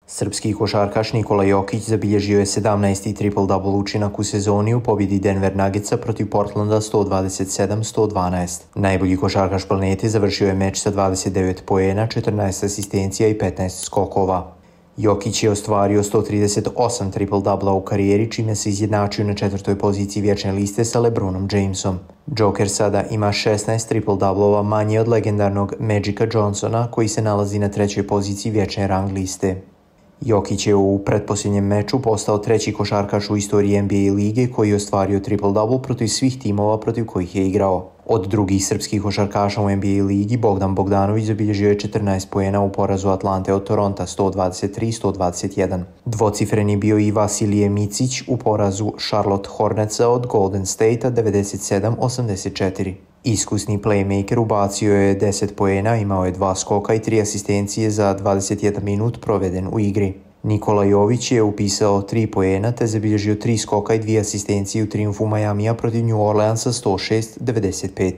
Srpski košarkaš Nikola Jokić zabilježio je 17. triple-double učinak u sezoni u pobjedi Denver Nuggetsa protiv Portlanda 127-112. Najbolji košarkaš planete završio je meč sa 29 poena, 14 asistencija i 15 skokova. Jokić je ostvario 138 triple-doubla u karijeri, čime se izjednačio na 4. poziciji vječne liste sa LeBronom Jamesom. Joker sada ima 16 triple-doublova manje od legendarnog Magica Johnsona, koji se nalazi na 3. poziciji vječne rang liste. Jokić je u pretposljednjem meču postao 3. košarkaš u istoriji NBA lige koji je ostvario triple-double protiv svih timova protiv kojih je igrao. Od drugih srpskih košarkaša u NBA ligi Bogdan Bogdanović zabilježio je 14 poena u porazu Atlante od Toronta 123-121. Dvocifreni bio i Vasilije Micić u porazu Charlotte Hornetsa od Golden State 97-84. Iskusni playmaker ubacio je 10 poena, imao je 2 skoka i 3 asistencije za 21 minut proveden u igri. Nikola Jović je upisao 3 poena te zabilježio 3 skoka i 2 asistencije u trijumfu Majamija protiv New Orleansa 106-95.